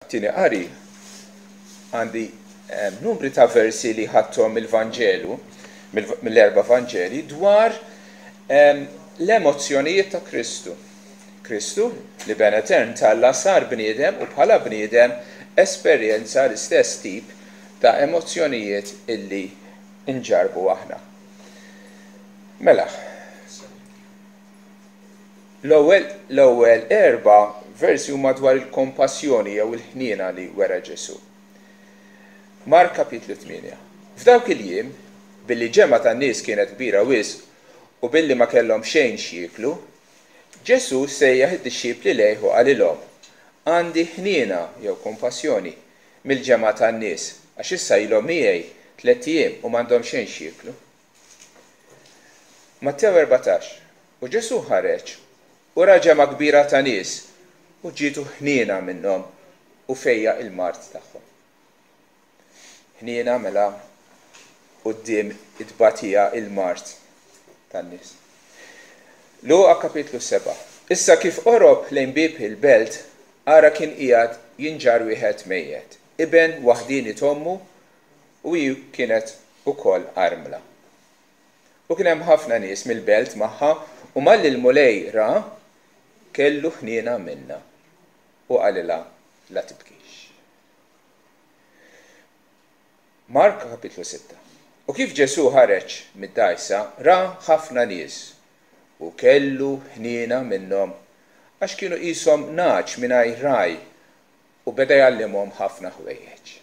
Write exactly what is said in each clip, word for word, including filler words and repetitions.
Għat-tieni qari għandi numri ta' versi li ħadthom mill-Vanġelu, mill-erba' Vanġeli, dwar l-emozzjonijiet ta' Kristu. Kristu, l-Iben etern t'Alla, sar bniedem u bħala bniedem esperjenza l-istess tip ta' emozzjonijiet illi nġarbu aħna. Mela, l-ewwel l-ewwel erba' versi huma dwar il-kompassjoni jew il-ħniena li wera Ġesù. Mark kapitlu tmienja. F'dawk il-jiem, billi ġemgħa tan-nies kienet kbira wisq u billi ma kellhom xejn x'jieklu, Ġesù sejjaħ id-dixxipli lejh u qalilhom, Għandi ħniena jew kompassjoni mill-ġemgħa tan-nies, għax issa ilhom miegħi tlett ijiem u m'għandhom xejn x'jieklu. Mattew erbatax. U Ġesù ħareġ u ra ġemgħa kbira ta' nies u ġietu ħniena minnhom u fejjaq il-mard tagħhom. Ħniena mela quddiem it-tbatija, il-mard tan-nies. Luqa kapitlu sebgħa. Issa kif qorob lejn bieb il-belt, ara kien qiegħed jinġarr wieħed mejjet, iben waħdieni t'ommu, u hi kienet ukoll armla. U kien hemm ħafna nies mill-belt magħha, u malli l-Mulej ra, kellu ħniena minnha, u qalilha, La tibkix. Mark kapitlu sitta. U kif Ġesù ħareġ mid-dgħajsa, ra ħafna nies, u kellu ħniena minnhom, għax kienu qishom nagħaġ mingħajr ragħaj, u beda jgħallimhom ħafna ħwejjeġ.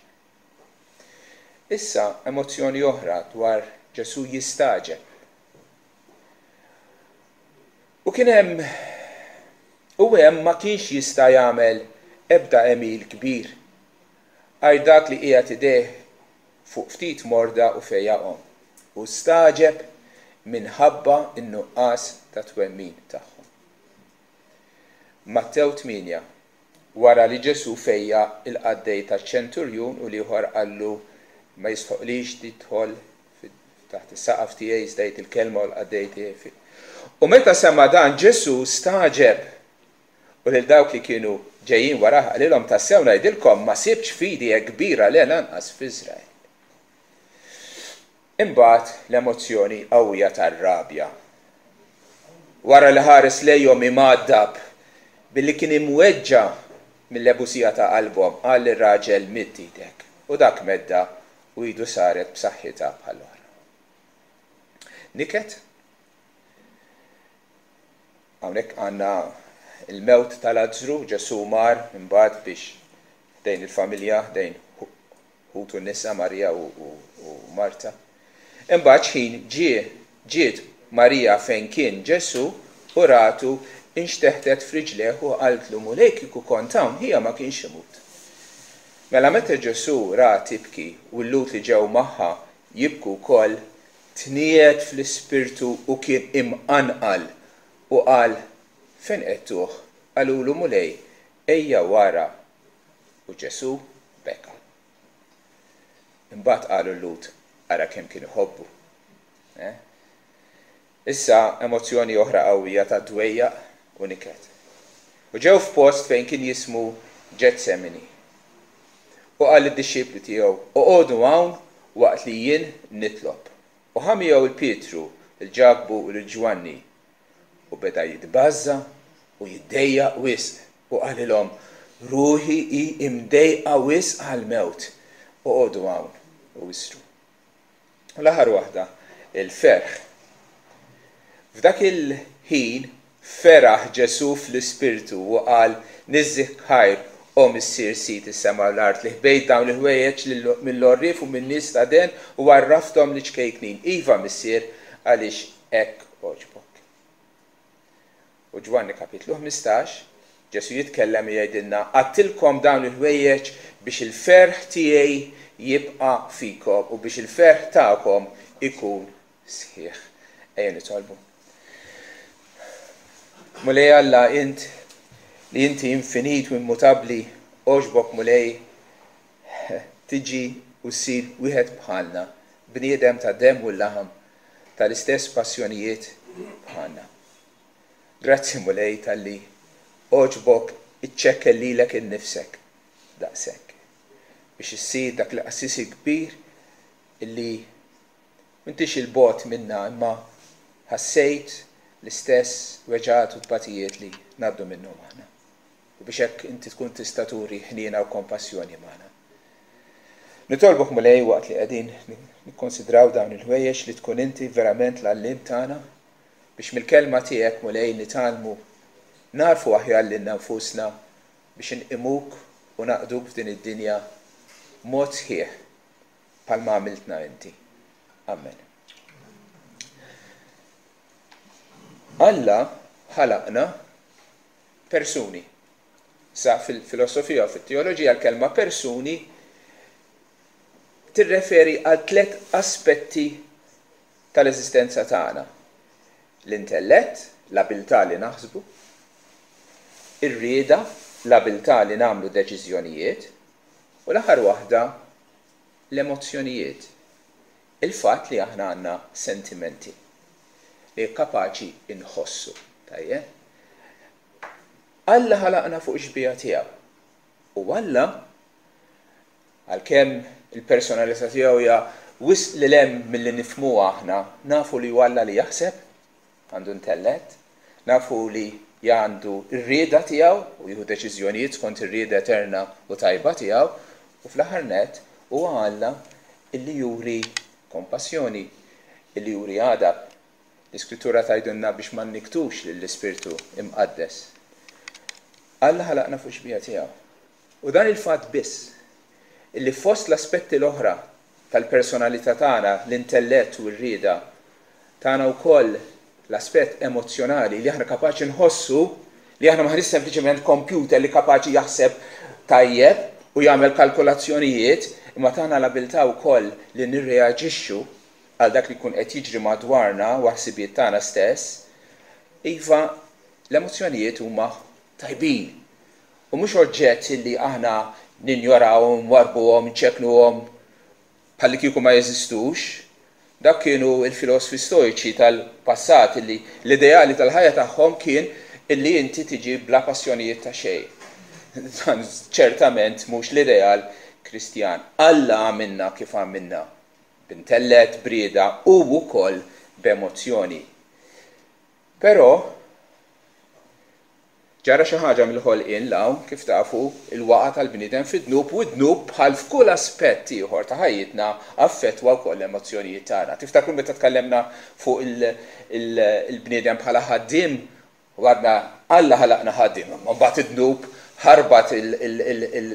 Issa emozzjoni oħra dwar Ġesù jistagħġeb. U kien hemm u hemm ma kienx jista' jagħmel ebda għemil kbir, għajr dak li qiegħed idejh fuq ftit morda u fejjaqhom, u stagħġeb minħabba n-nuqqas ta' twemmin tagħhom. Mattew tmienja, wara li Ġesù fejjaq il-qaddej taċ-ċenturjun u l-ieħor qallu ma jistħoqlix tidħol taħt is-saqaf tiegħi, iżda għid il-kelma u l-qaddej tiegħi. U meta sema' dan Ġesù stagħġeb, u lil dawk li kienu ġejjin warah qalilhom, tassew ngħidilkom ma sibtx fidi hekk kbira le lanqas f'Iżrael. Imbagħad l-emozzjoni qawwija tar-rabja. Wara li ħares lejhom imgħaddab billi kien imweġġa' mill-ebusija ta' qalbhom, qal lir-raġel, Midd idek. U dak meddha u idu saret b'saħħitha bħall-oħra. Niket? Hawnhekk għandna il-mewt ta' Lazzru, Ġesù mar imbagħad biex ħdejn il-familja, ħdejn ħutu n-nisa Marija u, u, u Marta. Imbagħad x'ħin ġie ġiet Marija fejn kien Ġesù u ratu, inxteħtet f'riġlejh u qaltlu, Mulej, kieku kont hawn, ħija ma kienx imut. Mela meta Ġesù ra tibki u l-Lhud li ġew magħha jibku wkoll, tniegħed fl-ispirtu u kien imqanqal u qal, Fejn qegħdtuh? Qalulu, Mulej, ejja u ara. U Ġesù beka. Imbagħad qalu l-Lhud, Ara kemm kien iħobbu. Eh? Issa emozzjoni oħra qawwija ta' dwejjaq u niket. U ġew f'post fejn kien jismu Ġetsemini. U qal lid-dixxipli tiegħu, Oqogħdu hawn waqt li jien nitlob. U ħa miegħu 'l Pietru, lil Ġakbu u lil Ġwanni, u beda jitbażża' u jiddejjaq wisq, u qalilhom, Ruħi hi imdejqa wisq għall-mewt, oqogħdu hawn u isru. U l-aħħar waħda, il-ferħ. F'dak il-ħin feraħ Ġesù fl-Ispirtu u qal, Niżżik ħajr, o Missier Sid is-sema u l-art, li ħbejt dawn il-ħwejjeġ mill-għorrief u min-nies ta' den u għarrafthom liċ-ċkejknin. Iva, Missier, għaliex hekk għoġbok. U Ġwanni kapitlu ħmistax, Ġesù jitkellem u jgħidilna, Għadtilkom dawn il-ħwejjeġ biex il-ferħ tiegħi jibqa' fikom u biex il-ferħ tagħkom ikun sħiħ. Ejja nitolbu. Mulej Alla, int li inti infinit u immutabbli, għoġbok Mulej tiġi u ssir wieħed bħalna, bniedem ta' demm u laħam, tal-istess passjonijiet bħalna. Grazzi Mulej talli għoġbok iċċekkel lilek innifsek daqshekk. Biex issir dak il-qassis il-kbir illi m'intix 'il bogħod minna imma ħassejt l-istess weġgħat u tbatijiet li ngħaddu minnhom aħna. U biex hekk inti tkun tista' turi ħniena u kompassjoni magħna. Nitolbok, Mulej, waqt li qegħdin nikkonsidraw dawn il-ħwejjeġ li tkun inti verament l-għalliem tagħna biex mill-kelma tiegħek, Mulej, nitgħallmu nagħrfu aħjar lilna nfusna biex inqimuk u naqduk f'din id-dinja mod sħiħ bħalma għamiltna inti. Amen. Alla ħalaqna persuni. Sa fil-filosofija u fit-teoloġija l-kelma persuni tirreferi għal tliet aspetti tal-eżistenza tagħna. L-intellett, l-abilità li naħsbu, ir-rieda, l-abilità li nagħmlu deċiżjonijiet, u l-aħħar waħda l-emozzjonijiet. Il-fatt li aħna għandna sentimenti li kapaċi inħossu. Tajjeb? Alla ħalaqna fuq xbieha tiegħu. U Alla, għalkemm il-personalità tiegħu hija wisq lil hemm milli nifhmuha aħna, nafu li Alla li jaħseb, għandu intellett, nafu li għandu r-rieda tiegħu u jieħu deċiżjonijiet skont ir-rieda eterna u tajba tiegħu, u fl-aħħar nett huwa Alla illi juri kompassjoni, illi juri għadab. L-Iskrittura tgħidilna biex ma nniktux lill-Ispirtu Imqaddes. Alla ħalaqna fuq xbieha tiegħu. U dan il-fatt biss illi fost l-aspetti l-oħra tal-personalità tagħna, l-intellett u r-rieda, tagħna wkoll l-aspett emozzjonali li aħna kapaċi nħossu, li aħna m'aħniex sempliċement computer li kapaċi jaħseb tajjeb u jagħmel kalkolazzjonijiet, imma tagħna l-abilità wkoll li nirreaġixxu għal dak li jkun qed jiġri madwarna u ħsibijiet tagħna stess. Iva, l-emozzjonijiet huma tajbin. U mhux oġġett li aħna ninjorawhom, nwarrbuhom, nċekknuhom bħalli kieku ma jeżistux. Dak kienu l-filosfi stoiċi tal-passat illi l-ideali tal-ħajja tagħhom kien illi inti tiġi bla passjonijiet ta' xejn. Dan ċertament mhux l-ideal Kristjan. Alla għamilna kif għamilna, b'intellett, b'rieda u wkoll b'emozzjoni. Però ġara xi ħaġa mill-ħolqien 'l hawn, kif tafu, il-waqa' tal-bniedem fid-dnub, u d-dnub bħal f'kull aspett ieħor ta' ħajjitna affettwa wkoll l-emozzjonijiet tagħna. Tiftakru meta tkellemna fuq il-bniedem bħala ħaddiem u għadna Alla ħalaqna ħaddiem, imma mbagħad id-dnub ħarbat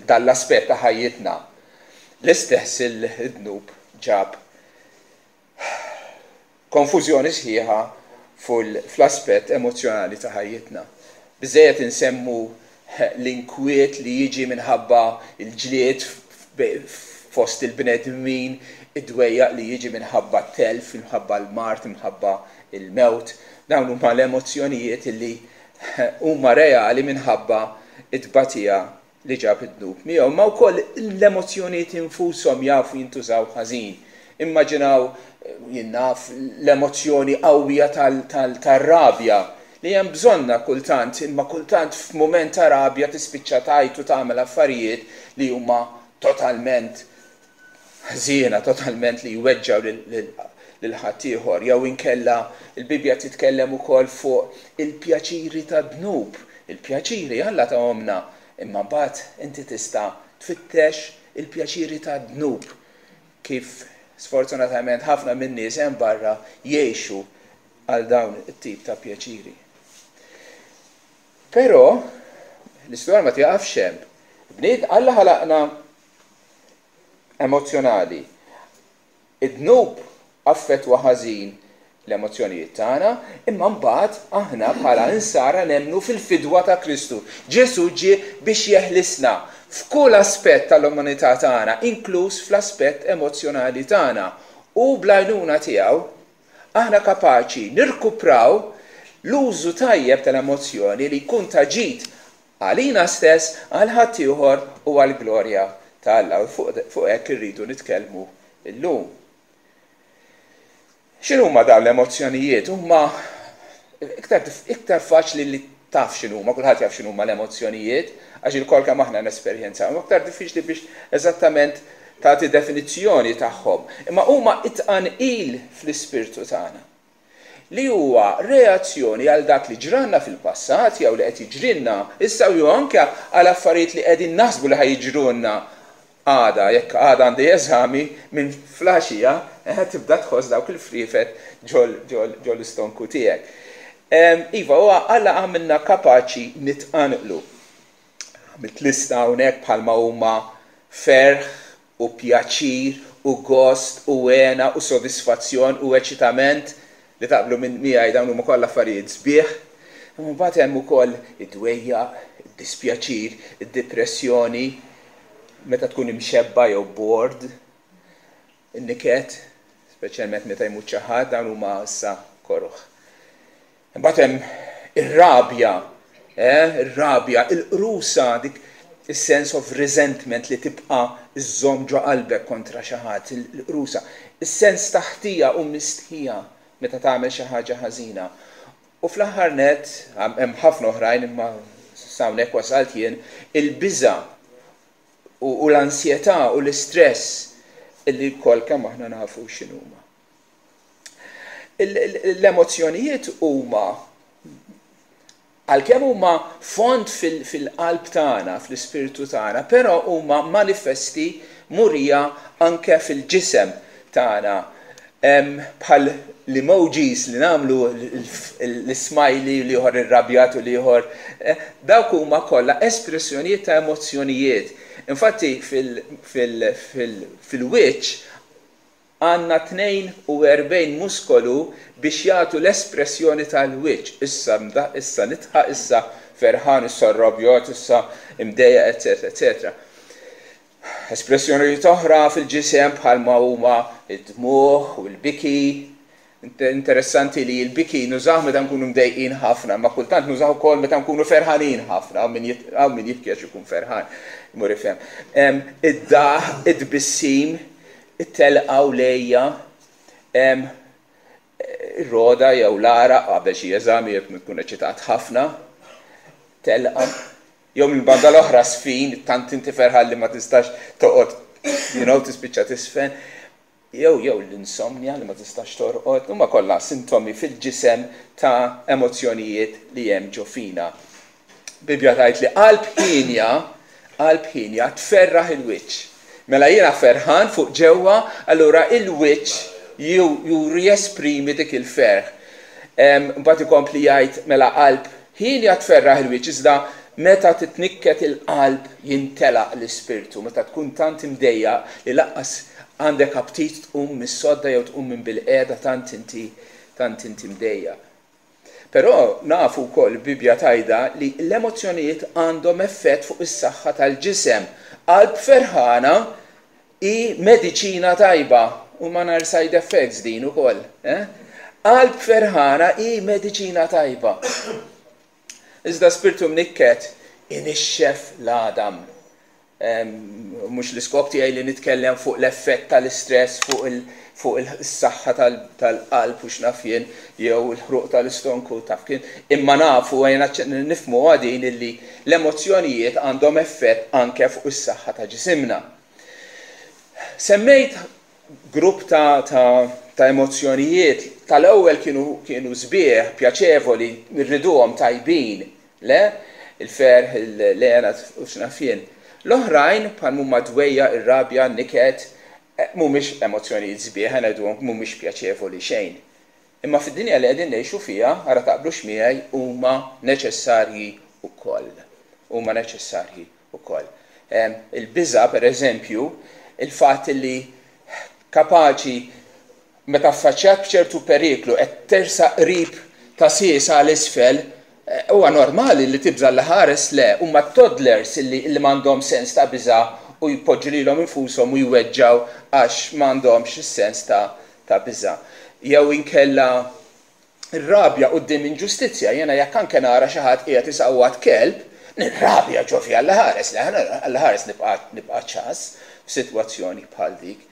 dan l-aspett ta' ħajjitna. L-istess il-dnub ġab konfużjoni sħiħa fl-aspett emozzjonali ta' ħajjitna. Biżżejjed insemmu l-inkwiet li jiġi minħabba l-ġlied fost il-bnedmin, id-dwejjaq li jiġi minħabba t-telf, minħabba l-mard, minħabba l-mewt. Dawn huma l-emozzjonijiet li huma reali minħabba it-tbatija li ġab id-dnub miegħu. Imma wkoll l-emozzjonijiet infushom jafu jintużaw ħażin. Immaġinaw, jien naf, l-emozzjoni qawwija tar-rabja li hemm bżonna kultant, imma kultant f'mument ta' rabja tispiċċa tgħid u tagħmel affarijiet li huma totalment ħżiena, totalment li jweġġgħu lil ħaddieħor. Jew inkella l-Bibbja titkellem ukoll fuq il-pjaċiri tad-dnub. Il-pjaċiri Alla tahomna, imma mbagħad inti tista' tfittex il-pjaċiri tad-dnub, kif sfortunatament ħafna min-nies hemm barra jgħixu għal dawn it-tip ta' pjaċiri. Però l-istorja ma tieqafx hemm. Bnied Alla ħalaqna emozzjonali. Id-dnub affettwa ħażin l-emozzjonijiet tagħna, imma mbagħad aħna bħala insara nemmnu fil-fidwa ta' Kristu. Ġesù ġie biex jeħlisna f'kull aspett tal-umanità tagħna, inkluż fl-aspett emozzjonali tagħna. U bl-għajnuna tiegħu aħna kapaċi nirkupraw l-użu tajjeb tal-emozzjoni li jkun ta' ġid għalina stess, għal ħaddieħor u għall-glorja ta' Alla. U fuq hekk irridu nitkellmu llum. X'inhuma dawn l-emozzjonijiet? Huma iktar, iktar faċli li Taf x'inhuma, kulħadd jaf x'inhuma l-emozzjonijiet, għax ilkoll kemm aħna nesperjenzaw. Aktar diffiċli biex eżattament tagħti definizzjoni tagħhom. Imma huma it-tqanqil fl-ispirtu tagħna, li huwa reazzjoni għal dak li ġralna fil-passat jew li qed jiġrilna issa jew anke għal affarijiet li qegħdin naħsbu li ħa jiġrulna għada. Jekk għada għandi eżami, minn filgħaxija eh, tibda tħoss dawk il-friefet ġol istonku tiegħek. Iva, huwa Alla għamilna kapaċi nitqanqlu. Għamilt lista hawnhekk bħalma huma ferħ u pjaċir u gost u hena u sodisfazzjon u eċitament, li taqblu minn miegħi dawn huma kollha affarijiet sbieħ. Imma mbagħad hemm ukoll id-dwejjaq, id-dispjaċir, id-depressjoni, meta tkun imxebba jew bored, in-niket, speċjalment meta jmut xi ħadd, dawn huma issa koroh. Imbagħad hemm ir-rabja, eh, ir-rabja, il-qrusa, dik is-sense of resentment li tibqa' iżżomm ġo qalbek kontra xi ħadd, il-qrusa, is-sens ta' ħtija u mistħija meta tagħmel xi ħaġa ħażina. U fl-aħħar net, hemm ħafna oħrajn imma s'hawnhekk wasalt jien, il-biża u l-ansjetà u l-istress illi lkoll kemm aħna nafu x'inhuma. L-emozzjonijiet huma, għalkemm huma fond fil-qalb tagħna, fl-ispirtu tagħna, però huma manifesti, murija anke fil-ġisem tagħna. Bħal l-emojis li nagħmlu, l-smiley li ieħor irrabjat u l-ieħor, eh, dawk huma kollha espressjonijiet ta' emozzjonijiet. Infatti fil-wiċċ għandna tnejn u erbgħin muskolu biex jagħtu l-espressjoni tal-wiċċ. Issa issa nidħaq, issa ferħan, issa rrabjat, issa imdejjaq, eccetera, eccetera. Espressjoni oħra fil-ġisem bħalma huma id-dmuħ u l-biki. Interessanti li l-biki nużaw meta nkunu mdejqin ħafna, ma kultant nużaw ukoll meta nkunu ferħanin ħafna, hawn min jibki għax ikun ferħan, mur ifhem. Id-daħk, id-tbissim, it-telqa u l-għeja, ir-rogħda jew l-għaraq qabel xi eżami jekk tkun eċitat ħafna, telqa, jew minn banda l-oħra sfin, tant inti ferħan li ma tistax toqgħod, you know, tispiċċa tisfen, jew jew l-insomnia li ma tistax torqod, huma kollha sintomi fil-ġisem ta' emozzjonijiet li hemm ġo fina. Bibbja tgħid li qalb ħienja, qalb ħienja tferraħ il-wiċċ. Mela jiena ferħan fuq ġewwa, allura il-wiċċ juri, jesprimi dik il-ferħ. Mbagħad ikompli jgħid, mela qalb ħienja tferraħ il-wiċċ, iżda meta titnikket il-qalb jintelaq l-ispirtu, meta tkun tant imdejjaq li lanqas għandek aptit tqum mis-sodda jew tqum minn bil-qiegħda, tant inti tant inti mdejjaq. Però nafu wkoll, Bibbja tgħidha, li l-emozzjonijiet għandhom effett fuq is-saħħa tal-ġisem. Qalb ferħana hi mediċina tajba u ma nar side effects din ukoll. Eh? Qalb ferħana hi mediċina tajba. Iżda spirtu mnikket inixxef l-għadam. Mhux l-iskop tiegħi li nitkellem fuq l-effett tal-istress fuq fuq il-saħħa tal-qalb u x'naf jien jew il-ħruq tal-istonku, taf kien, imma nafu, għajna nifhmu għadin illi l-emozzjonijiet għandhom effett anke fuq is-saħħa ta' ġisimna. Semmejt grupp ta', ta, ta' emozzjonijiet tal-ewwel kienu kienu sbieħ, pjaċevoli, nirriduhom, tajbin, le? Il-ferħ, l-hena u x'naf jien. L-oħrajn, bħal huma dwejjaq, ir-rabja, niket, eh, mhumiex emozzjonijiet sbieħ, ngħiduhom mhumiex pjaċevoli xejn. Imma fid-dinja li qegħdin ngħixu fiha, ara taqblux miegħi, huma neċessarji wkoll. Huma neċessarji wkoll. Il-biża, per eżempju, il-fatt li kapaċi meta affaċċjat b'ċertu periklu qed tersaq qrib ta' siesa għal isfel, eh, huwa normali li tibża', li ħares le, huma toddlers illi, illi m'għandhom sens ta' biża u jpoġġu lilhom infushom u jweġġaw għax m'għandhomx is-sens ta' ta' biża. Jew inkella ir-rabja quddiem inġustizzja, jiena jekk anke nara xi ħadd qiegħed isawwat kelb, nirrabja ġo fi Alla ħares, le Alla ħares nibqa' nibqa' ċass f'sitwazzjoni bħal dik.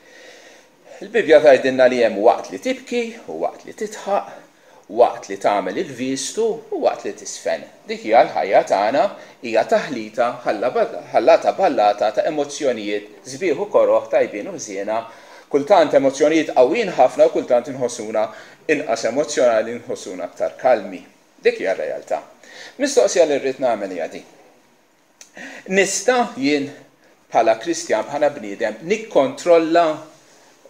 Il-Bibja tgħidilna li hemm waqt li tibki u waqt li tidħaq. waqt li tagħmel il-vistu u waqt li tisfen. Dik hija l-ħajja tagħna, hija taħlita ħallata ballata ta' emozzjonijiet sbieħ u koroh, tajbin u ħżiena, kultant emozzjonijiet qawwin ħafna u kultant inħossuna inqas emozzjonali, nħossuna aktar kalmi. Dik hija r-realtà. Mistoqsija li rrid nagħmel hija din. Nista' jien bħala Kristjan, bħala bniedem, nikkontrolla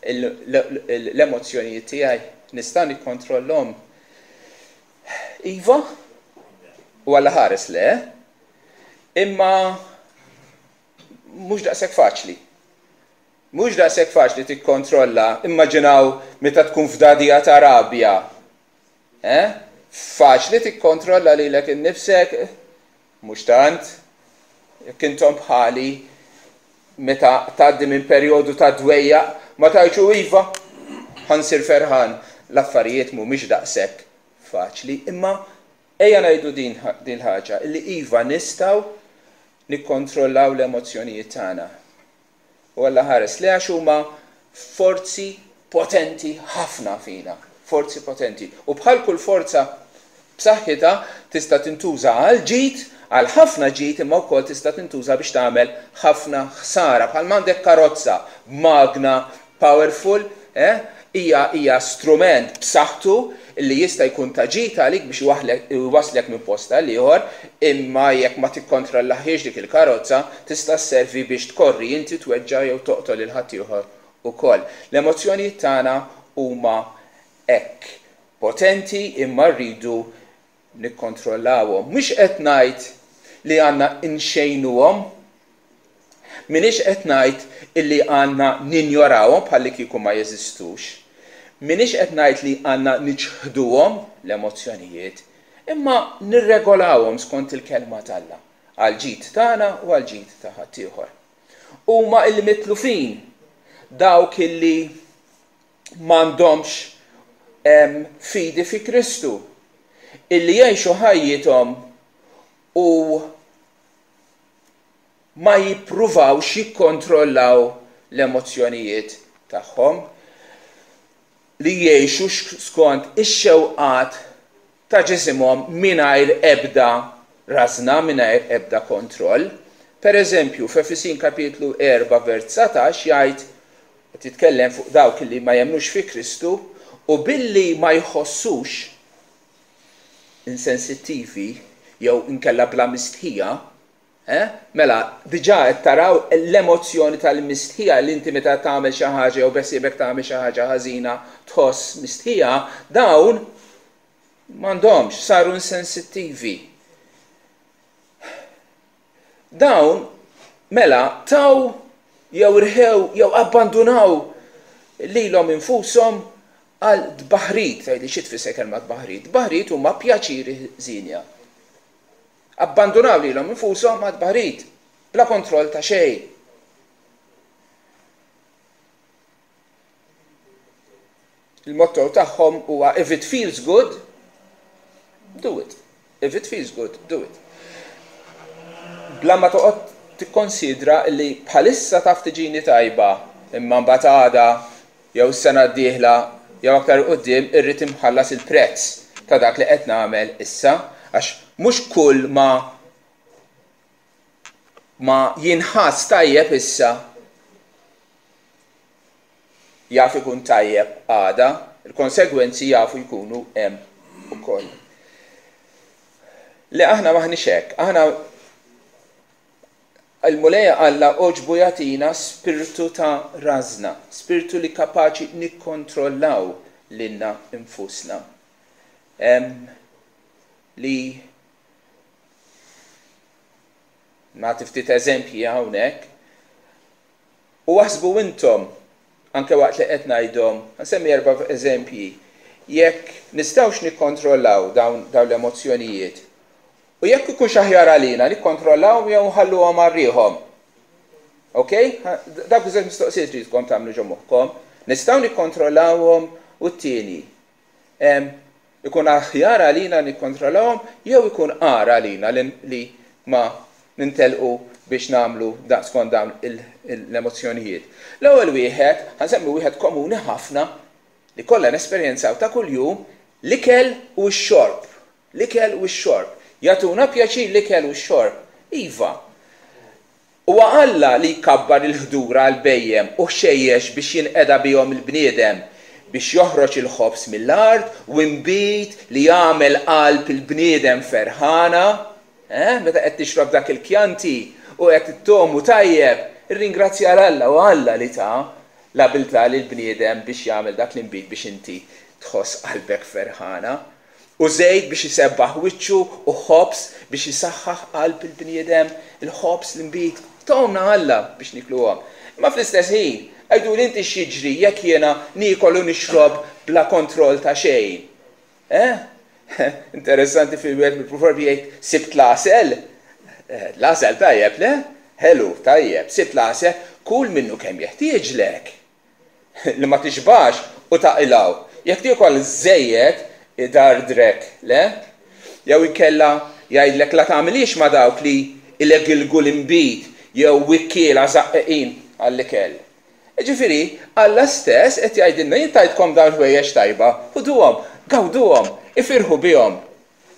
l-emozzjonijiet tiegħi? Nista' nikkontrollhom? Iva? U Alla ħares le, imma mhux daqshekk faċli. Mhux daqshekk faċli tikkontrolla. Immaġinaw meta tkun f'dadija ta' rabja. Eh? Faċli tikkontrolla lilek innifsek? Mhux tant. Jekk intom bħali, meta tgħaddi minn perjodu ta' dwejjaq, ma tgħidx iva, ħa nsir ferħan. L-affarijiet mhumiex daqshekk faċli, imma ejja ngħidu din din ħaġa, illi iva, nistgħu nikkontrollaw l-emozzjonijiet tagħna. U Alla ħares li, għax huma forzi potenti ħafna fina, forzi potenti. U bħal kull forza b'saħħitha, tista' tintuża għal ġid, għal ħafna ġid, imma wkoll tista' tintuża biex tagħmel ħafna ħsara. Bħal m'għandek karozza, magna powerful, eh? hija hija strument b'saħħtu li jista' jkun ta' ġid għalik biex iwasslek minn post għal ieħor, imma jekk ma tikkontrollahiex dik il-karozza, tista' sservi biex tkorri inti, tweġġa' jew toqtol lil ħaddieħor ukoll. L-emozzjonijiet tagħna huma hekk potenti, imma rridu nikkontrollawhom. Mhux qed ngħid li għandna nxejnuhom, minix qed ngħid illi għandna ninjorawhom bħalli kieku ma jeżistux. Minix qed ngħid li għandna niċħduhom l-emozzjonijiet, imma nirregolawhom skont il-kelma t'Alla, għal ġid tagħna u għal ġid ta' ħaddieħor. Huma il-mitlufin, dawk illi m'għandhomx fidi fi Kristu, illi jgħixu ħajjithom u ma jippruvawx jikkontrollaw l-emozzjonijiet tagħhom, li jgħixu skont ix-xewqat ta' ġisimhom mingħajr ebda rażna, mingħajr ebda kontroll. Per eżempju, f'Efesin kapitlu erbgħa vers dsatax jgħid, qed jitkellem fuq dawk li ma jemmnux fi Kristu, u billi ma jħossux, insensittivi jew inkella bla mistħija, eh? Mela, diġà qed taraw l-emozzjoni tal-mistħija, li inti meta tagħmel xi ħaġa jew beħsiebek tagħmel xi ħaġa ħażina tħoss mistħija, dawn m'għandhomx, saru insensittivi. Dawn mela taw jew irħew jew abbandunaw lilhom infushom għal tbaħrid. Tgħidli xi tfisser kelma tbaħrid? Tbaħrid huma pjaċiri ħżiena. Abbandunaw lilhom infushom għal tbaħrid, bla kontroll ta' xejn. Il-motto tagħhom huwa "If it feels good, do it. If it feels good, do it." Bla ma toqgħod tikkonsidra li bħalissa taf tiġini tajba, imma mbagħad għada jew s-sena d-dieħla jew aktar quddiem irrid imħallas il-prezz ta' dak li qed nagħmel issa, għax mhux kull ma ma jinħass tajjeb issa jaf ikun tajjeb għada, il-konsegwenzi jafu jkunu hemm ukoll. Li aħna maħniex hekk, aħna il-Mulej Alla għoġbu jagħtina spiritu ta' rażna, spiritu li kapaċi nikkontrollaw lilna infusna. Em, li nagħti ftit eżempji hawnhekk. U aħsbu intom, anke waqt li qed ngħidhom, nsemmi erba' eżempji, jekk nistgħux nikkontrollaw dawn dawn l-emozzjonijiet. U jekk ikunx aħjar għalina nikkontrollawhom jew nħalluhom għal riħhom. Ok? Dak iż mistoqsijiet tridkom tagħmlu ġo moħħkom. Nistgħu nikkontrollawhom, u t-tieni, ikun aħjar għalina nikkontrollawhom jew ikun agħar għalina li ma nintelqu biex nagħmlu da skont dawn l-emozzjonijiet? L-ewwel wieħed, ħa nsemmi wieħed komuni ħafna li kollha nesperjenzaw ta' kuljum. L-ikel u x-xorb. L-ikel u x-xorb. Jagħtuna pjaċir l-ikel u x-xorb. Iva. Huwa Alla li jkabbar il-ħdura għall-bhejjem u ħxejjex biex jinqeda bihom il-bniedem, biex joħroġ il-ħobż mill-art u nbid li jagħmel qalb il-bniedem ferħana. Eh? Meta qed tixrob dak il-kjanti u qed ittogħmu tajjeb, irringrazzja 'l Alla u Alla li ta l-abilità lill-bniedem biex jagħmel dak l-inbid biex inti tħoss qalbek ferħana. U żejt biex isebbaħ wiċċu u ħobż biex isaħħaħ qalb il-bniedem, il-ħobż, l-inbid, tahomlna Alla biex nikluhom. Imma fl-istess ħin, għiduli inti x'jiġri jekk jiena niekol u nixrob bla kontroll ta' xejn. Eh? Interessanti fil-wieħed mill-proverbi jgħid sibt l-għasel. Eh, l-għasel tajjeb, le? Ħelu, tajjeb, sibt l-għasel, kul minnu kemm jeħtieġlek. Li ma tixbax u taqilgħu. Jekk tiekol żejjed idardrek, le? Jew inkella jgħidlek la tagħmilix ma' dawk li ilegilgu l-inbid jew wikkiela żaqqeqin għall-ikel. Ġifieri, Alla stess qed jgħidilna jien tajtkom dawn ħwejjeġ tajba, ħuduhom, gawduhom, ifirħu bihom.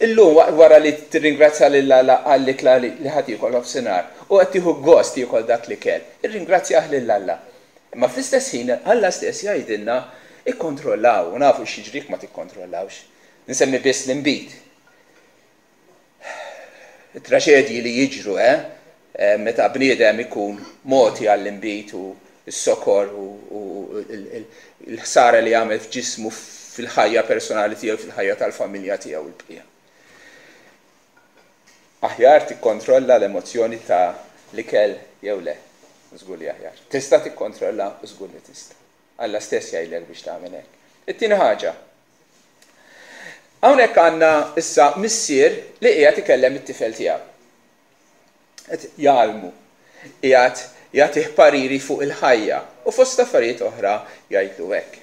Illum wara li tirringrazzja lil Alla għall-ikla li ħa tiekol nofsinhar u qed tieħu gost tiekol dak l-ikel, irringrazzjah lil Alla. Imma fl-istess ħin Alla stess jgħidilna ikkontrollaw, u nafu x'jiġri jekk ma tikkontrollawx. Nsemmi biss l-inbid. It-traġedji li jiġru, eh? eh meta bniedem ikun mogħti għall-inbid u s-sokor u l-ħsara li jagħmel f'ġismu fil-ħajja personali tiegħu, fil-ħajja tal-familja tiegħu l-bqija. Aħjar tikkontrolla l-emozzjoni ta' l-ikel jew le? Żgur li aħjar. Tista' tikkontrolla u żgur li tista'. Alla stess jgħidlek biex tagħmel hekk. It-tieni ħaġa. Hawnhekk għandna issa missier li qiegħed ikellem it-tifel tiegħu. Qed jgħallmu, qiegħed jagħtih pariri fuq il-ħajja u fost affarijiet oħra jgħidlu hekk.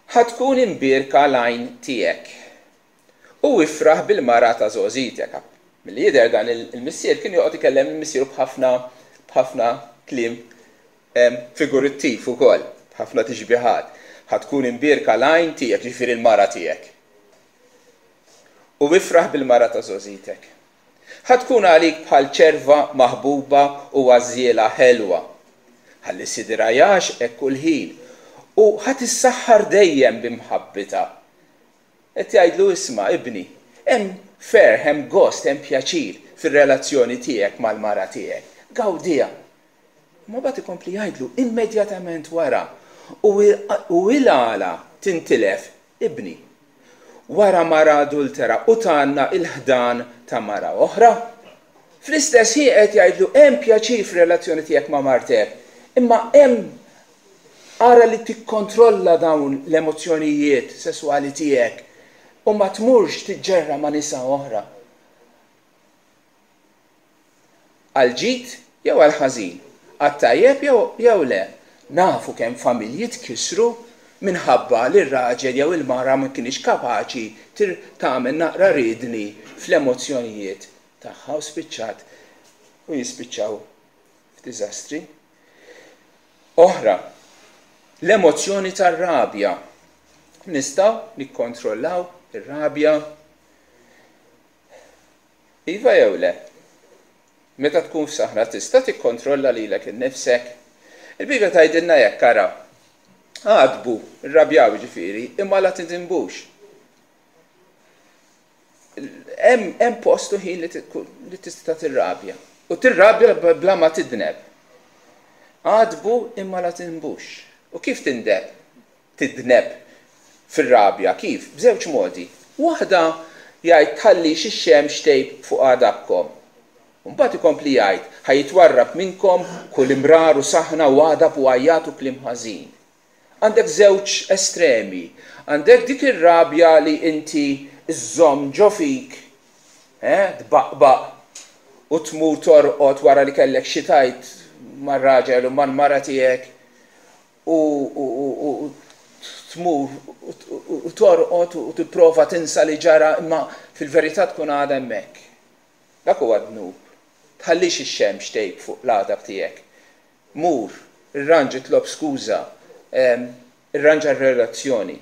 Ħa tkun imbierka l-għajn tiegħek u ifraħ bil-mara ta' żgħożitek. Milli jidher dan il-missier kien joqgħod ikellem lil missieru b'ħafna b'ħafna kliem figurittiv ukoll, b'ħafna tixbihat. Ħa tkun imbierka l-għajn tiegħek, ġifieri l-mara tiegħek. U ifraħ bil-mara ta' żgħożitek. Ħa tkun għalik bħal ċerva maħbuba u għażżiela ħelwa. Ħalli sidirha jgħaxqek kull ħin u ħa tissaħħar dejjem b'imħabbitha. Qed jgħidlu isma' ibni, hemm ferħ, hemm gost, hemm pjaċir fir-relazzjoni tiegħek mal-mara tiegħek. Gawdiha. Imma mbagħad ikompli jgħidlu immedjatament wara, u il-għala tintilef ibni wara mara adultera u tgħannaq il-ħdan ta' mara oħra? Fl-istess ħin qed jgħidlu hemm pjaċir fir-relazzjoni tiegħek ma' martek, imma hemm ara li tikkontrolla dawn l-emozzjonijiet sesswali tiegħek u ma tmurx tiġġerra ma' nisa oħra. Għall-ġid jew għall-ħażin, għat-tajjeb jew jew le. Nafu kemm familji tkissru minħabba li r-raġel jew il-mara ma kinitx kapaċi tagħmel naqra riedni fl-emozzjonijiet tagħha u spiċċat u jispiċċaw f'diżastri. Oħra, l-emozzjoni tar-rabja. Nistgħu nikkontrollaw ir-rabja? Iva jew le? Meta tkun f'saħna tista' tikkontrolla lilek innifsek? Il-Bibbja tgħidilna hekk, ara, għadbu, irrabjaw jiġifieri, imma la tidinbux. Hemm post u ħin li tista' tirrabja. U tirrabja bla ma tidneb. Għadbu imma la tidnbux. U kif tindeb? Tidneb fir-rabja. Kif? B'żewġ modi. Waħda jgħid tħallix ix-xemx tgħib fuq għadabkom. U mbagħad ikompli jgħid, ħa jitwarrab minnkom kull imrar u saħna u għadab u għajjat u kliem ħażin. Għandek żewġ estremi. Għandek dik ir-rabja li inti żżomm ġo fik, eh, tbaqbaq u tmur torqod wara li kellek xi tgħid mar-raġel u mal-mara tiegħek u, u, u, u tmur u torqod u tipprova tinsa li ġara imma fil-verità tkun għadha hemmhekk. Dak huwa dnub. Tħallix ix-xemx tgħib fuq l-għadab tiegħek. Mur, irranġa, itlob skuża, irranġa r-relazzjoni.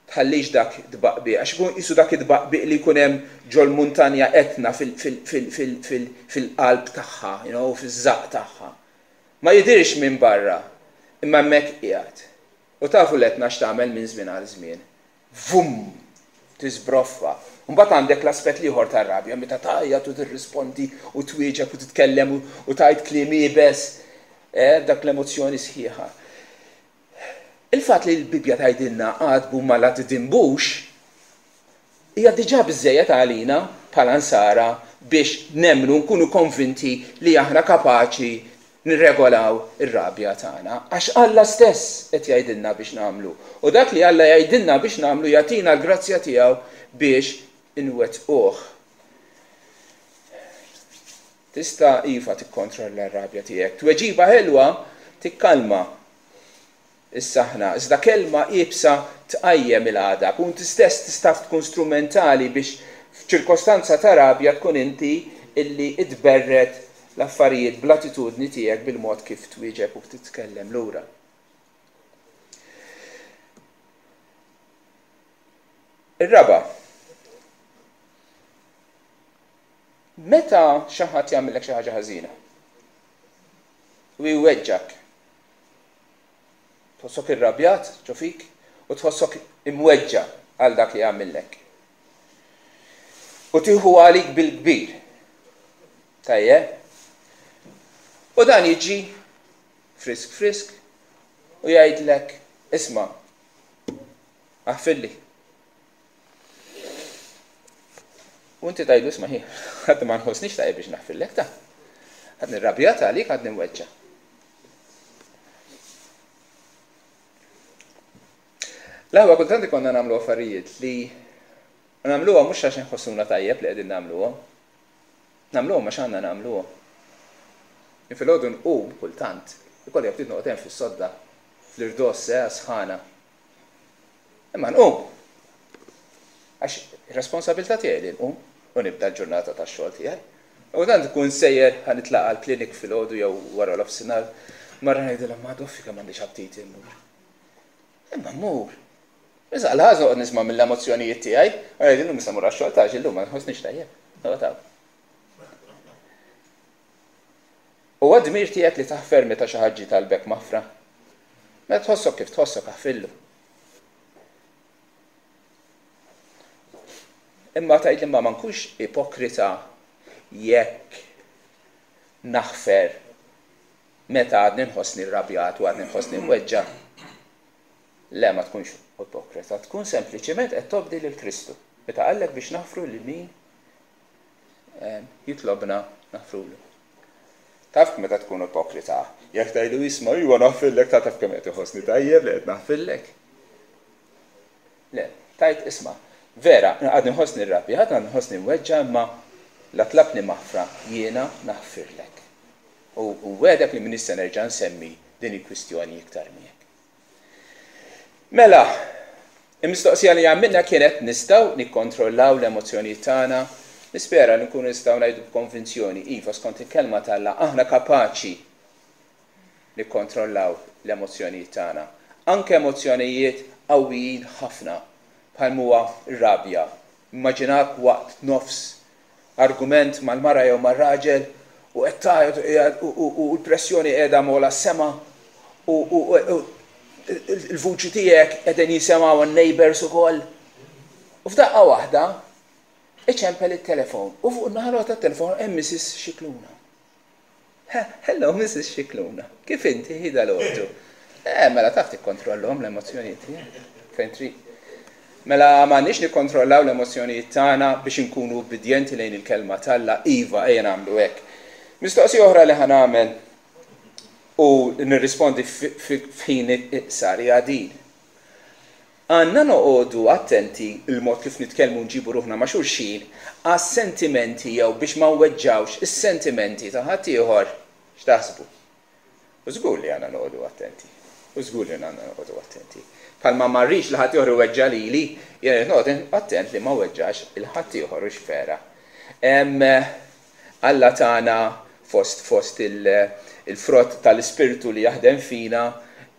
Tħallix dak tbaqbiq, għax ikun qisu dak it-tbaqbiq li jkun hemm ġol-muntanja Etna fil-qalb tagħha, you know, fiż-żaqq tagħha. Ma jidhirx minn barra, imma hemmhekk qiegħed. U tafu l-Etna x'tagħmel minn żmien għal żmien. Vum! Tiżbroffa. Mbagħad għandek l-aspett l-ieħor tar-rabja, meta tgħajjat u tirrispondi u twieġeb u titkellem u tgħid kliem iebes, eh, dak l-emozzjoni sħiħa. Il-fatt li l-Bibbja tgħidilna għadbu ma la tidinbux hija diġà biżżejjed għalina bħala nsara biex nemmnu, nkunu konvinti li aħna kapaċi nirregolaw ir-rabja tagħna, għax Alla stess qed jgħidilna biex nagħmlu. U dak li Alla jgħidilna biex nagħmlu jagħtina l-grazzja tiegħu biex inwettquh. Tista' iva tikkontrolla r-rabja tiegħek. Tweġiba ħelwa tikkalma is-saħna, iżda kelma iebsa tqajjem il-għadab. U inti stess tista' tkun strumentali biex f'ċirkostanza ta' rabja tkun inti illi tberred l-affarijiet bl-attitudni tiegħek, bil-mod kif twieġeb u titkellem lura. Ir-raba', meta xi ħadd jagħmellek xi ħaġa ħażina u jweġġak, tħossok irrabjat ġo fik u tħossok imweġġa għal dak li għamillek. U tieħu għalik bil-kbir. Tajjeb? U dan jiġi frisk frisk u jgħidlek, isma', aħfirli. U inti tgħidlu, isma' ħi, ħadd ma nħossnix tajjeb biex naħfirlek ta'. Ħadd nirrabjat għalik, ħadd nimweġġa. L-aħwa kultant ikonna nagħmlu affarijiet li nagħmluha mhux għax inħossuna tajjeb li qegħdin nagħmluha. Nagħmluhom għax għandna nagħmluha. Filgħodu nqum kultant, ikolli ftit noqgħod hemm fis-sodda, fl-irdoss, eh, sħana. Imma nqum. Għax ir-responsabilità tiegħi li nqum u nibda l-ġurnata tax-xogħol tiegħi. U tant ikun sejjer ħa nitlaqa' l-klinik filgħodu jew wara l-offsinar, marra ngħidilha ma doffi kemm m'għandix aptit immur. Imma mmur. Issa għal-ħaż noqgħod nisma' mill-emozzjonijiet tiegħi, u ngħidilhom issa mur għax-xogħol ta' illum ma nħossnix tajjeb. Noqgħod hawn. Huwa dmir tiegħek li taħfer meta xi ħadd ġie talbek maħfra. Meta tħossok kif tħossok aħfillu. Imma tgħid li ma nkunx ipokrita jekk naħfer meta għadni nħossni rrabjat u għadni nħossni mweġġa'. Le, ma tkunx ipokrita, tkun sempliċement qed tobdi lil Kristu. Meta qallek biex naħfru lil min jitlobna naħfrulu. Taf meta tkun ipokrita, jekk tgħidlu isma' iva naħfirlek, ta' taf kemm qed iħossni tajjeb li qed naħfirlek. Le, tajt isma' vera, għadni nħossni rrabjat, għadni nħossni mweġġa', imma la tlabni maħfra jiena naħfirlek. U wedek li m'iniex se nerġa' nsemmi din il-kwistjoni iktar miegħek. Mela, il-mistoqsija li għamilna kienet nistgħu nikkontrollaw l-emozzjonijiet tagħna. Nispera li nkunu nistgħu ngħidu b'konvinzjoni, iva skont il-kelma t'Alla aħna kapaċi nikkontrollaw l-emozzjonijiet tagħna. Anke emozzjonijiet qawwijin ħafna bħal huwa r-rabja. Immaġinak waqt nofs argument mal-mara jew mar-raġel u qed tgħajjat u l-pressjoni qiegħda mola s-sema u l-vuċi tiegħek qegħdin jisimgħu n-neighbors ukoll. U f'daqqa waħda iċempel it-telefon u fuq in-naħa tat-telefon hemm Missus Scicluna. Hello Missus Scicluna, kif inti hi dal-għodu? Eh, mela taf tikkontrollhom l-emozzjonijiet tiegħek fejn trid. Mela m'għandniex nikkontrollaw l-emozzjonijiet tagħna biex inkunu ubbidjenti lejn il-kelma t'Alla, iva ejja nagħmlu hekk. Mistoqsija oħra li ħa nagħmel u nirrispondi f'ħin iqsar hija din. Għandna noqogħdu attenti il-mod kif nitkellmu nġibu ruħna ma' xulxin għas-sentimenti jew biex ma nweġġawx is-sentimenti ta' ħaddieħor. X'taħsbu? U żgur li għandna noqogħdu attenti. U żgur li għandna noqogħdu attenti. Bħalma ma rridx li ħaddieħor iweġġa' lili, jien rrid noqgħod attent li ma weġġax il ħaddieħor u x'vera. Alla tagħna fost fost il-frott tal-ispirtu li jaħdem fina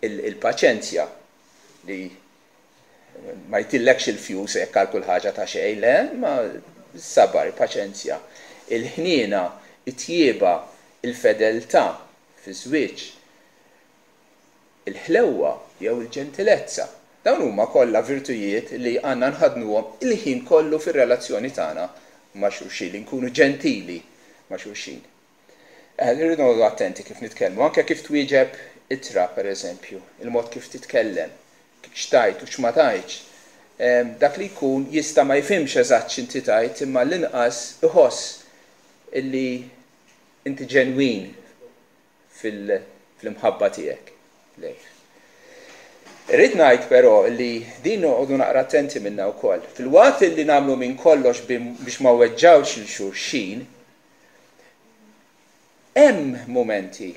il-paċenzja li Ma jtillekx il-fjus hekk għal kull ħaġa ta' xejn, le, ma sabar, paċenzja. Il-ħniena, it-tjieba, il-fedeltà fiż-żwieġ, il-ħlewwa jew il-ġentilezza. Dawn huma kollha virtujiet li għandna nħaddnuhom il-ħin kollu fir-relazzjoni tagħna ma' xulxin, li nkunu ġentili ma' xulxin. Irridu noqogħdu attenti kif nitkellmu, anke kif twieġeb ittra pereżempju, il-mod kif titkellem, x'tgħid u x'ma tgħidx. Dak li jkun jista' ma jifhimx eżatt x'inti tgħid, imma l-inqas iħoss illi inti ġenwin fil-imħabba tiegħek lejh. Irrid ngħid però li din noqogħdu naqra attenti minnha wkoll. Filwaqt li nagħmlu minn kollox biex ma weġġawx lil xulxin, hemm mumenti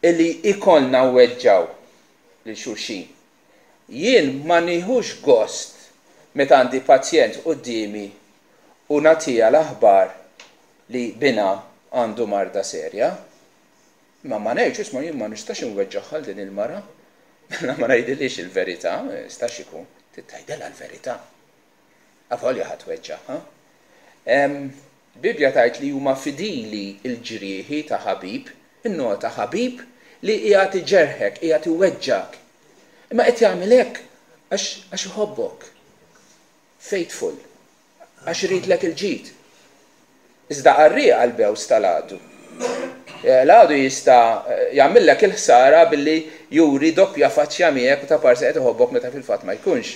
illi ikollna weġġaw lil xulxin. Jien ma nieħux gost meta għandi pazjent quddiemi u nagħtiha l-aħbar li binha għandu marda serja. Ma ma ngħidx, isma', jien ma nistax inweġġaħħal din il-mara. Mela ma ngħidilhiex il-verità, ma jistax ikun. Tgħidilha l-verità. Avolja ħa tweġġagħha. Bibbja tgħid li huma fidili il-ġrieħi ta' ħabib, innota ħabib li qiegħed iġerħek, qiegħed iweġġak. Imma qed jagħmel hekk għax għax iħobbok. Faithful. Għax iridlek il-ġid. Iżda qarrieq għall-bews tal-għadu. L-għadu jista' jagħmillek il-ħsara billi juri doppja faċċja miegħek u ta' parsi qed iħobbok meta fil-fatt ma jkunx.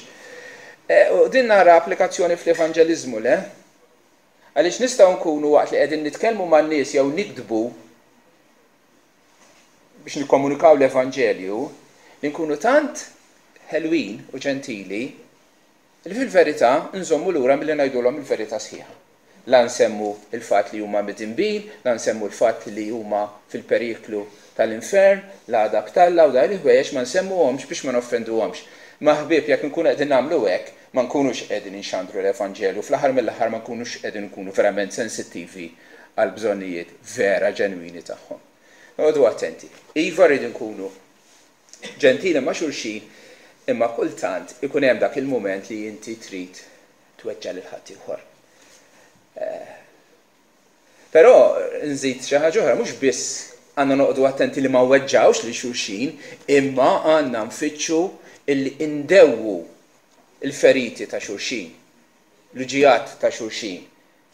U din nara applikazzjoni fl-evanġeliżmu, le? Għaliex nistgħu nkunu waqt li qegħdin nitkellmu man-nies jew niktbu biex nikkomunikaw l-Evanġelju, li nkunu tant ħelwin u ġentili li fil-verità nżommu lura milli ngħidulhom il-verità sħiħa. La nsemmu il-fatt li huma midinbin, la nsemmu l-fatt li huma fil-periklu tal-infern, l-għadab t'Alla u dawn il-ħwejjeġ ma nsemmuhomx biex ma noffenduhomx. Ma ħbieb, jekk nkunu qegħdin nagħmlu hekk, ma nkunux qegħdin inxandru l-Evanġelju, fl-aħħar mill-aħħar ma nkunux qegħdin nkunu verament sensittivi għal bżonnijiet vera ġenwini tagħhom. Noqogħdu attenti. Iva, rridu nkunu ġentili ma' xulxin, imma kultant ikun hemm dak il-mument li inti trid tweġġa' lil ħaddieħor. Però nżid xi ħaġa oħra, mhux biss għandna noqogħdu attenti li ma weġġawx lil xulxin, imma għandna nfittxu illi indewwu il-feriti ta' xulxin, l-uġigħat ta' xulxin,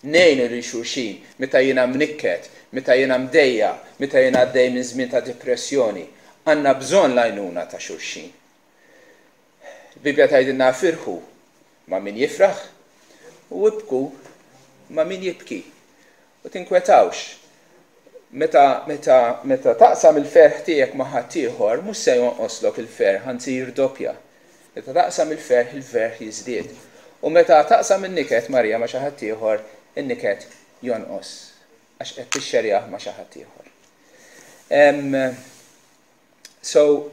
ngħinu lil xulxin meta jiena mnikket, meta jiena mdejja, meta jiena għaddej minn żmien ta' depressjoni. Għandna bżonn l-għajnuna ta' xulxin. Il-Bibbja tgħidilna firħu ma' min jifraħ u ibku ma' min jibki. U tinkwetawx. Meta, meta, meta taqsam il-ferħ tiegħek ma' ħaddieħor, mhux se jonqoslok il-ferħ, anzi jirdoppja. Meta taqsam il-ferħ, il-ferħ jiżdied. U meta taqsam in-niket, Marija, ma' xi ħadd ieħor, in-niket jonqos għax qed tixxerjah ma' xi ħadd ieħor. So,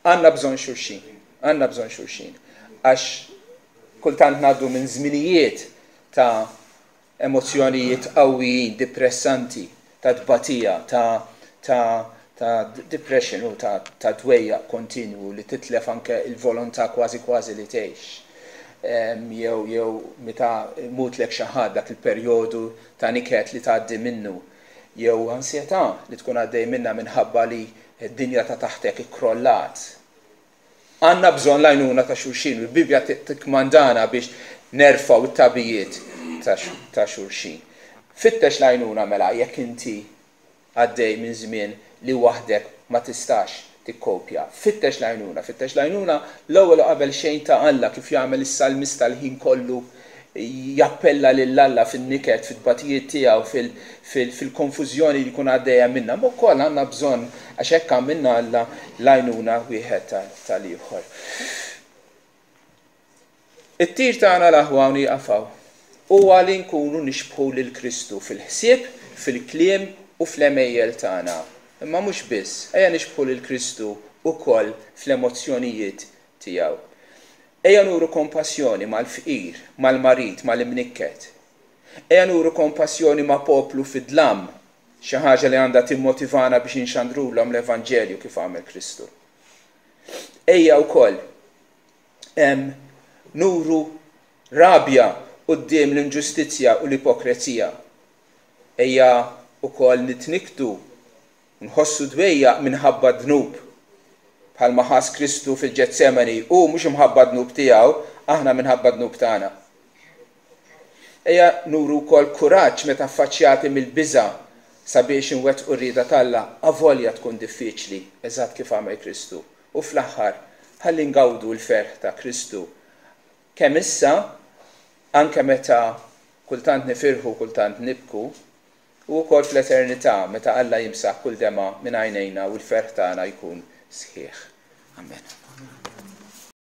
għandna bżonn xulxin, għandna bżonn xulxin, għax kultant ngħaddu minn żminijiet ta' emozzjonijiet qawwijin, depressanti, ta' tbatija, ta', ta', ta' depression u ta', ta' dwejjaq kontinwu li titlef anke il-volontà kważi kważi li tgħix. Jew jew meta mutlek xi ħadd, dak il-perjodu ta' niket li tgħaddi minnu, jew ansjetà li tkun għaddej minnha minħabba li d-dinja ta' taħtek ikkrollat. Għandna bżonn l-għajnuna ta' xulxin, u l-Bibbja tikkmandana biex nerfgħu t-tabijiet ta' xulxin. Fittex l-għajnuna mela jekk inti għaddej minn żmien li waħdek ma tistax tikkopja. Fittex l-għajnuna, fittex l-għajnuna l-ewwel u qabel xejn ta' Alla, kif jagħmel is-salmista l-ħin kollu, jappella lil Alla fin-niket, fit-tbatijiet tiegħu, fil-konfużjoni li jkun għaddejja minnha. Ma wkoll għandna bżonn, għax hekk għamilna Alla, l-għajnuna wieħed tal-ieħor. It-tir tagħna l-aħwa u nieqafaw huwa li nkunu nixbħu lil Kristu fil-ħsieb, fil-kliem u fl-għemejjel tagħna. Imma mhux biss, ejja nixbħu lil Kristu wkoll fl-emozzjonijiet tiegħu. Ejja nuru kompassjoni mal-fqir, mal-marid, mal-imnikket. Ejja nuru kompassjoni ma' poplu fid-dlam, xi ħaġa li għandha timmotivana biex inxandrulhom l-Evanġelju kif għamel Kristu. Ejja wkoll nuru rabja quddiem l-inġustizzja u l-ipokrezija. Ejja wkoll nitnikktu u nħossu dwejjaq minħabba d-dnub. Bħalma ħass Kristu fil-Ġetsemani, hu mhux imħabba d-dnub tiegħu, aħna minħabba d-dnub tagħna. Ejja nuru wkoll kuraġġ meta affaċċjati mill-biża' sabiex inwettqu r-rieda t'Alla, avolja tkun diffiċli, eżatt kif għamel Kristu. U fl-aħħar, ħalli ngawdu l-ferħ ta' Kristu. Kemm issa, anke meta kultant nifirħu, kultant nibku, u wkoll fl-eternità meta Alla jimsaħ kull demgħa minn għajnejna u l-ferħ tagħna jkun sħiħ. Amen.